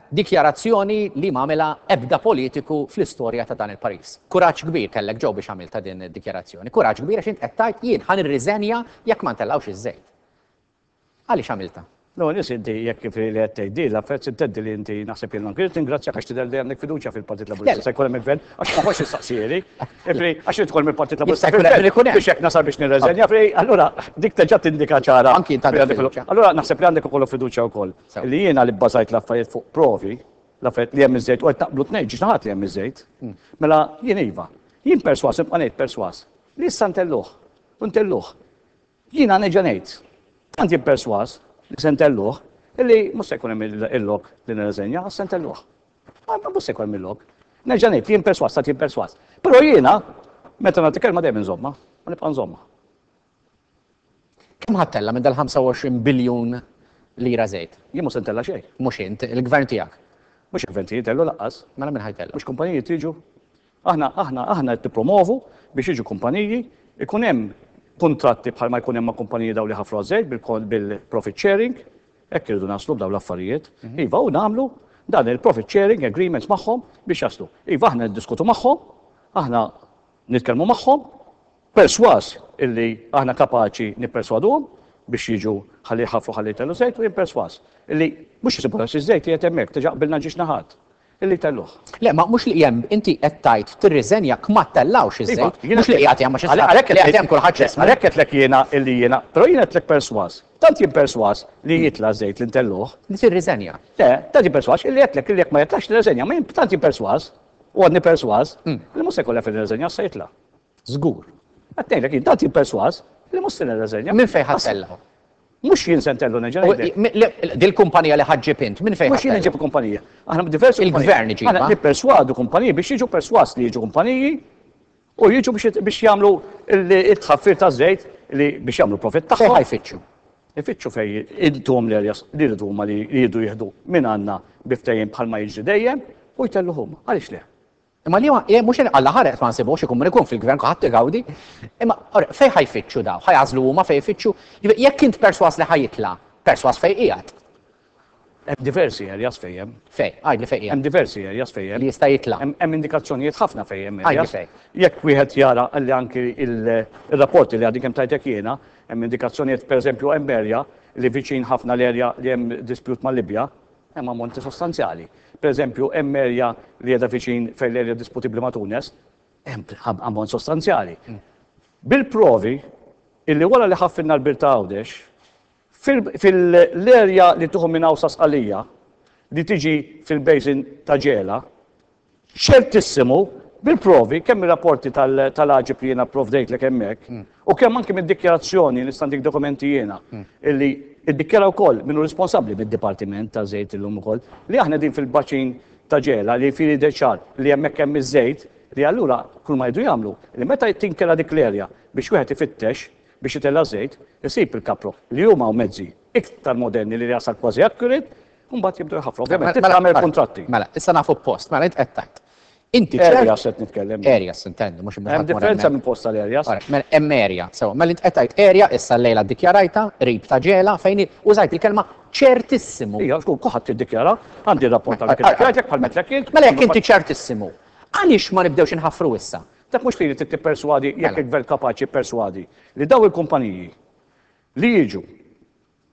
Dikjarazzjoni li m'għamilha ebda politiku fl-istorja ta' dan il-pajjiż. Kuraġġ kbir kellek Joe biex għamiltha din id-dikjarazzjoni. Kuraġġ kbir għax int qed tgħid jien ħa nirriżenja jekk ma ntellgħux iż-żejt. Għaliex għamiltha? L-ewwel nies inti jekk kif li qed tgħid din l-affarijiet sintendi li inti naħseb jien anki ningrazzjak għax tidher li għandek fiduċja fil-Partit Laburista se jkun hemm il-gvern għax ma ħoss issaqsieli. Ifri għax irid tkun mill-Partit Laburista fil-gvern biex hekk nasal biex nirreżenja fri allura dik terġa' tindika ċara. Anki int għandek fiduċja. Allura naħseb li għandek ukoll fiduċja wkoll li jiena li bbażajt l-affarijiet fuq provi, l-affarijiet li hemm iż-żejt u qed naqblu tnejn ġiex naħat li hemm iż-żejt. Mela jien iva. Jien persważ nibqa' ngħid persważ li issa ntelluh u ntelluh. Jiena nerġa' ngħid, tant jien persważ li se ntelluh, illi mhux se jkun hemm il-lok li nirreżenja, għax se ntelluh. Mhux se jkun hemm il-lok. Nerġa' ngħid, jien persważ, tant jien persważ. Però jiena, meta nagħti kelma dejjem inżommha, u nibqa' nżommha. Kemm ħa ttella' minn dal-25 biljun lira żejt? Jien mhux se ntella' xejn. Mhux int, il-gvern tiegħek. Mhux il-gvern tiegħi jtellu lanqas. Mela min ħa jtella'? Mhux kumpaniji jiġu Aħna, aħna, aħna qed nippromovu biex jiġu kumpaniji, ikun hemm kuntratti bħalma jkun hemm ma' kumpaniji dawn li ħafru għaż-żejt bil-profit sharing, hekk irridu naslu b'dawn l-affarijiet. Iva, u nagħmlu dan il-profit sharing agreements magħhom biex jaslu. Iva, aħna niddiskutu magħhom, aħna nitkellmu magħhom, persważ illi aħna kapaċi nipperswaduhom biex jiġu ħalli jħaffru ħalli jtellgħu żejt u jien persważ illi mhux isibu għax iż-żejt qiegħed hemmhekk, diġà qbilna ġiex naħat. Illi jtelluh. Le, ma mhux li hemm, inti qed tgħid tirriżenja jekk ma ttellgħux iż-żejt, mhux li qiegħed hemm għax issa li qiegħed hemm kulħadd x'ismu. Għalhekk għedtlek jiena illi jiena, però jien għedtlek persważ, tant jien persważ li jitla' ż-żejt li ntelluh. Li tirriżenja. Le, tant jien persważ illi għedtlek illi jekk ma jitlax nirriżenja, ma jien tant jien persważ, u għadni persważ, li mhux se jkollha fejn nirriżenja għax se jitla'. Żgur. Qed ngħidlek jien tant jien persważ li mhux se nirreżenja. Minn fejn ħa ttellgħu? Mhux jien se ntellu nerġa' ngħidlek. Dil-kumpanija li ħa ġġib int, minn fejn ħa Mhux jien inġib il-kumpanija. Aħna diversi Il-gvern iġibha. Aħna nipperswadu kumpaniji biex jiġu persważ li jiġu kumpaniji u jiġu biex jagħmlu it-tħaffir taż-żejt li biex jagħmlu profitt tagħhom. Fejn ħa jfittxu? Ifittxu fejn intuhom l-areas li jridu huma li jridu jieħdu minn għandna bi ftehim bħalma jiġri dejjem u jtelluh huma. Għaliex le? Imma li huwa, mhux Alla ħareq ma nsibux ikun min ikun fil-gvern kulħadd igawdi. Imma fejn ħa jfittxu daw? Ħa jagħżlu huma fejn jfittxu? Jekk int persważ li ħa jitla', persważ fejn qiegħed. Hemm diversi areas fejn hemm. Fejn? Għidli fejn qiegħed. Hemm diversi areas fejn hemm. Li jista' jitla'. Hemm indikazzjonijiet ħafna fejn hemm areas. Għidli fejn. Jekk wieħed jara li anki il-rapporti li għadni kemm tajtek jiena, hemm indikazzjonijiet pereżempju hemm area li viċin ħafna l-area li hemm dispute mal-Libja, Hemm ammonti sostanzjali. Pereżempju, hemm erja li qiegħda viċin fejn l-erja disputibbli ma' Tunes, hemm ammont sostanzjali. Bil-provi illi wara li ħaffilna l-bir ta' Għawdex, fil-erja li tieħu minn hawn sa Sqallija, li tiġi fil-basin ta' Ġela, ċertissimu bil-provi kemm mir-rapporti tal-AGIP li jiena pprovdejtlek hemmhekk u kemm anki mid-dikjarazzjoni nista' ntik dokumenti jiena illi iddikjara wkoll min hu responsabbli mid-dipartiment taż-żejt illum ukoll li aħna qegħdin fil-baċin ta' Ġela li fili jidher ċar li hemmhekk hemm iż-żejt li allura kull ma jridu jagħmlu li meta tinkela dik l-erja biex wieħed ifittex biex itella' żejt isib il-kapro li huma mezzi iktar moderni li jasal kważi accurate U mbagħad jibdew jħaffru. Ovvjament, trid tagħmel kuntratti. Mela, issa nafu post, mela int qed tgħid. Inti ċert. Areas qed nitkellem. Areas intendu, mhux Hemm differenza minn post għal areas. Mela hemm area, sewa. Mela int qed tgħid area issa llejla ddikjarajtha qrib ta' Ġela fejn użajt il-kelma ċertissimu. Ija, żgur, kulħadd iddikjara, għandi r-rapport ta' dak iddikjarajt bħal m'għedtlek int. Mela jekk inti ċertissimu, għaliex ma nibdewx inħaffru issa? Dak mhux li trid tipperswadi jekk il-gvern kapaċi jipperswadi li dawn il-kumpaniji li jiġu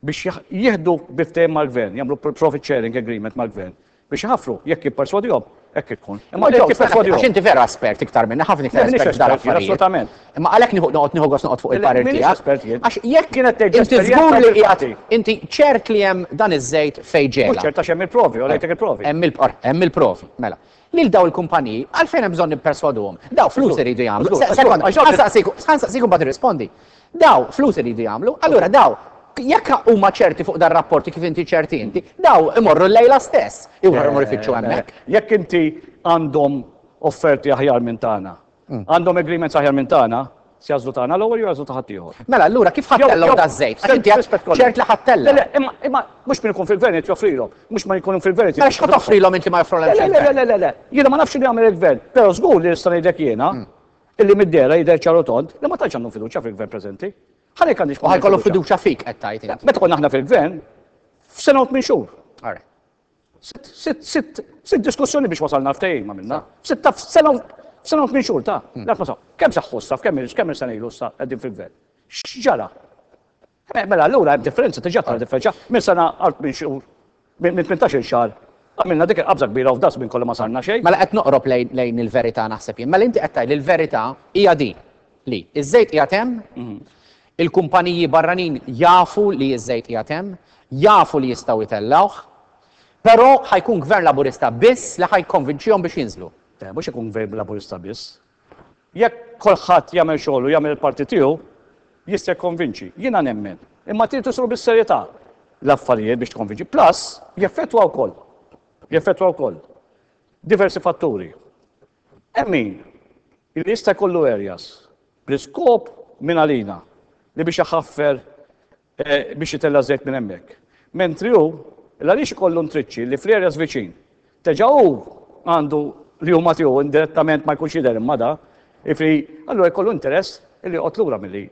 biex jieħdu bi ftehim mal-gvern, jagħmlu profit sharing agreement mal-gvern biex iħaffru, jekk jipperswadihom, hekk ikun. Imma jekk jipperswadihom. Għax inti vera espert iktar minni, ħafna iktar espert f'dan affarijiet. Assolutament. Imma għalhekk nieħu noqgħod nieħu gost noqgħod fuq il-parir tiegħek. Espert jien. Għax jekk kienet tgħid inti żgur li qiegħed inti ċert li hemm dan iż-żejt fejn ġela. Mhux ċert għax hemm il-provi, u rejtek il-provi. Hemm il-provi, mela. Lil daw il-kumpaniji, għalfejn hemm bżonn nipperswaduhom? Daw flus iridu jagħmlu. Sekonda, ħa nsaqsik u mbagħad irrispondi. Daw flus iridu jagħmlu, allura daw jekk huma ċerti fuq dar-rapporti kif inti ċerti inti, daw imorru llejla stess, imorru ifittxu hemmhekk. Jekk inti għandhom offerti aħjar minn tagħna, għandhom agreements aħjar minn tagħna, se jagħżlu tagħna l-ewwel jew jagħżlu ta' ħaddieħor. Mela allura kif ħa ttellgħu daż-żejt? Għax inti għedt ċert li ħa ttellgħu. Le, le, imma, imma mhux min ikun fil-gvern irid joffrilhom, mhux ma jkunu fil-gvern irid Mela x'ħa toffrilhom inti ma joffrulhomx il-gvern? Le, le, le, le, le, jiena ma nafx x'inhu jagħmel il-gvern, però żgur li nista' ngħidlek jiena illi mid-dehra jidher ċar u tond li ma tantx għandhom fiduċja fil-gvern preżenti. Ħalli jekk għandix U ħa jkollhom fiduċja fik qed tgħid int. Meta konna aħna fil-gvern, f'sena u tmien xhur. All right. Sitt diskussjoni biex wasalna ftehim għamilna. Sitta sena sena u tmien xhur ta' dak ma Kemm seħħu issa, kemm kemm sena ilu issa qegħdin fil-gvern? X'ġara? Eh, mela allura hemm differenza diġà tara differenza minn sena għal tmien xhur minn 18-il xahar għamilna dik il-qabża kbira u f'das minn kollu ma sarna xejn. Mela qed noqrob lejn il-verità naħseb jien. Mela inti qed tgħid li l-verità hija din li iż-żejt qiegħed hemm, mhm. il-kumpaniji barranin jafu li ż-żejt qiegħed hemm, jafu li jistgħu jtellgħuh, però ħa jkun Gvern Laburista biss li ħa jikkonvinċihom biex jinżlu. Le, mhux ikun Gvern Laburista biss. Jekk kulħadd jagħmel xogħlu, jagħmel il-parti tiegħu, jista' jikkonvinċi. Jiena nemmen. Imma trid isiru bis-serjetà l-affarijiet biex tikkonvinċi. Plus, jeffettwa wkoll. Jeffettwa wkoll diversi fatturi. Hemm min li jista' jkollu areas bl-iskop minn għalina li biex iħaffer biex itella' żejt minn hemmhekk. Mentri hu, l-għaliex ikollu ntriċċi li fl-areas viċin. Teġa' hu għandu li huma tiegħu indirettament ma jkunx jidher imma da, jiġifieri allura jkollu interess li joqgħod lura milli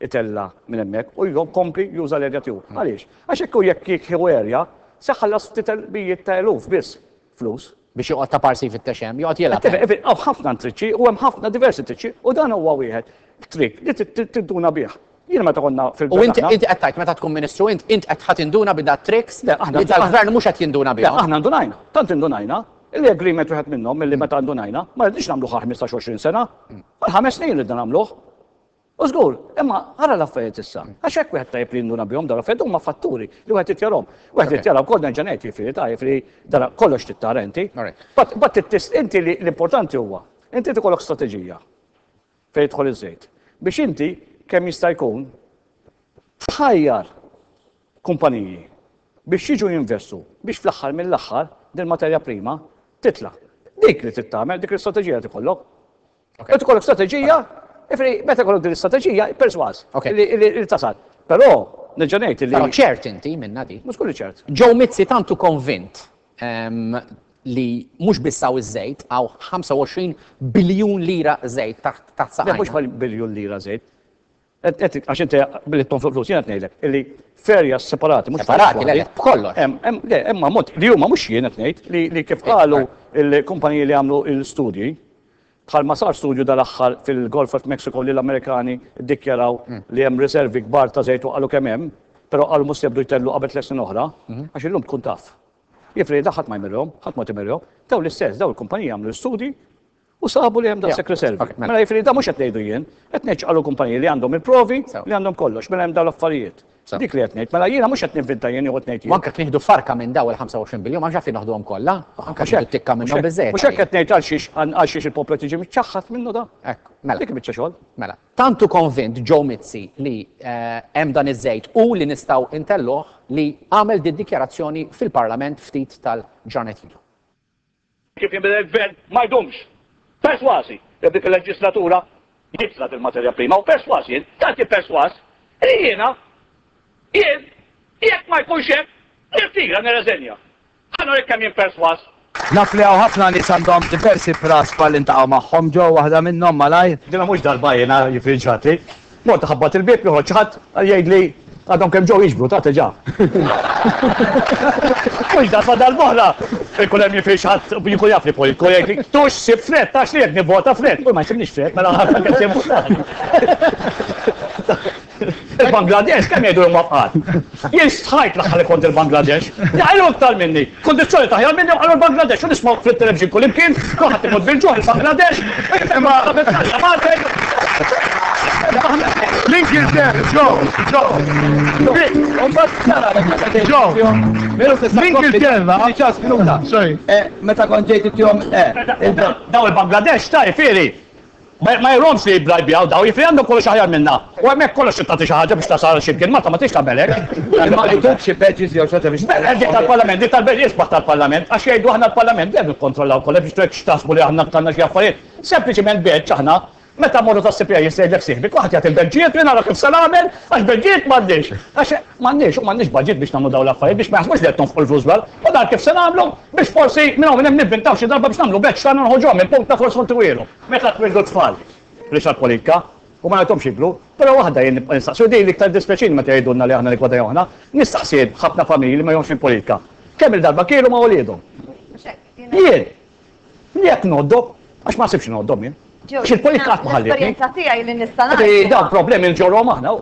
itella' minn hemmhekk u jkompli juża l-area tiegħu. Għaliex? Għax hekk hu jekk jieħu area se jħallas ftit mijiet ta' eluf biss flus. Biex joqgħod ta' parsi jfittex hemm, joqgħod jilgħab hemm. Hawn ħafna ntriċċi u hemm ħafna diversi triċċi u dan huwa wieħed trick li tinduna bih. Jiena meta konna fil-gvern. U inti inti qed tgħid meta tkun ministru int int qed ħa tinduna bi dat tricks li dal-gvern mhux qed jinduna bihom. Aħna ndunajna, tant indunajna, li agreement wieħed minnhom milli meta ndunajna ma rridniex nagħmluh għal 15 20 sena, għal ħames snin ridna nagħmluh. U żgur, imma ara l-affarijiet issa. Għax hekk wieħed tajjeb li jinduna bihom dawn l-affarijiet huma fatturi li wieħed irid jarahom. Wieħed irid jara wkoll nerġa' ngħid jiġifieri ta' jiġifieri dara kollox trid tara inti. But inti li l-importanti huwa, inti trid ikollok strateġija fejn jidħol iż-żejt. Biex inti kemm jista' jkun tħajjar kumpaniji biex jiġu jinvestu biex fl-aħħar mill-aħħar din materja prima titla'. Dik li trid tagħmel, dik l-istrateġija li tikollok. Qed ikollok strateġija, ifri meta jkollok din l-istrateġija, persważ li tasal. Però nerġa' ngħid li. Però ċert inti minna di. Mhux kulli ċert. Joe Mizzi tant hu konvint li mhux biss hawn iż-żejt, hawn 25 biljun lira żejt taħt saqajna. Mhux biljun lira żejt. Għax inti billi tonfoq flus, jiena qed ngħidlek illi f'areas separati, mhux Separati, le, le, b'kollox. Hemm, le, hemm ammont li huma mhux jien qed ngħid li kif qalu l-kumpaniji li għamlu l-studji, bħalma sar studju dal-aħħar fil-Gulf of Mexico li l-Amerikani ddikjaraw li hemm riservi kbar ta' żejt u qalu kemm hemm, però qalu mhux se jibdu jtellu qabel tlett snin oħra, għax illum tkun taf. Jiġifieri da ħadd ma jmirhom, ħadd ma timirhom. Dawn l-istess, dawn il-kumpaniji għamlu l-istudji U sabu li hemm daqshekk riservi. Mela jiġifieri da mhux qed ngħidu jien, qed ngħid x'qalu kumpaniji li għandhom il-provi, li għandhom kollox, mela hemm dawn l-affarijiet. Dik li qed ngħid, mela jiena mhux qed ninvinta jien jew qed ngħid jien. U anke jekk nieħdu farka minn dawn il-25 biljun, ma hemmx għalfejn noħduhom kollha, anke jekk nieħdu tikka minnhom biżżejjed. Mhux hekk qed ngħid għal xiex għal xiex il-poplu qed jiġi miċċaħħad minnu da. Ekku, mela. Dik biċċa xogħol. Mela, tant hu konvint Joe Mizzi li hemm dan iż-żejt u li nistgħu ntellgħuh li għamel did-dikjarazzjoni fil-Parlament ftit tal-ġranet ilu. Kif jinbidel il-gvern ma jdumx. Persważi li f'dik il-leġislatura jitla' dil-materja prima u persważ jien, tant jien persważ, li jiena, jien, jekk ma jkunx hekk, nirtira, nirreżenja. Ħa nurik kemm jien persważ. Naf li hawn ħafna nies għandhom diversi praspa li ntaqgħu magħhom ġo waħda minnhom malajr. Dina mhux darba jiena jiġifieri ġratli. Mort iħabbat il-bieb joħroġ xi ħadd jgħidli għadhom kemm ġew jiġbru ta' diġà. Mhux darba darb'oħra ikun hemm jiġifieri xi ħadd jkun jaf li politiku jgħidli tux sib frett għax li jekk nivvota frett. U ma jsibniex frett mela ħadd kemm tivvotani. Il-Bangladesh kemm jgħidu huma fqar. Jien stħajt l-aħħar li kont il-Bangladesh. Jaqilgħu iktar minni. Kundizzjoni taħjar minni u qalu l-Bangladesh u nismgħu fit-television kullimkien, kulħadd imut bil-ġuħ il-Bangladesh. Imma L-Ingilterra, Joe, Joe. Joe, l-Ingilterra. Sorry. Meta kont ġejt ittihom, Daw il-Bangladesh ta' jifieri. Ma jromx li jibbrajbjaw daw, jiġifieri għandhom kollox aħjar minna. U hemmhekk kollox trid tagħti xi ħaġa biex tasal għal xi mkien, Malta ma tridx tagħmel hekk. Imma jtuk xi badges jew xi ħaġa biex. Mela dik tal-Parlament, dik tal-badges isbaħ tal-Parlament, għax jgħidu aħna l-Parlament dejjem nikkontrollaw kollox biex hekk x'taħsbu li aħna għandna xi affarijiet. Sempliċiment badge aħna meta mmorru tas-CPI jista' jgħidlek sieħbi, kulħadd jagħti l-badġijiet li nara kif se nagħmel għax badġijiet m'għandniex. Għax m'għandniex u m'għandniex budget biex nagħmlu dawn l-affarijiet biex ma jaħsbux li qed nonfqu l-flus bl U dan kif se nagħmlu biex forsi minn hawn minn hemm nivvintaw xi darba biex nagħmlu badge tagħna noħorġuha minn punta forsi ntiwielu. Meta twieldu t-tfal, mhix għall-politika, u ma ngħidhomx jikbru, però waħda jien nibqa' nistaqsi, u din l-iktar iddispjaċini meta jgħidulna li aħna niggwadanjaw aħna, nistaqsi jien ħafna familji li ma jihomx minn politika. Kemm-il darba kielu ma' uliedhom. Jien, jekk ngħoddhom, għax ma nsibx ngħoddhom jien. Għax il-politika qatt ma ħallietni. L-esperjenza tiegħi li nista' ngħid. Dawn problemi nġorruhom aħna.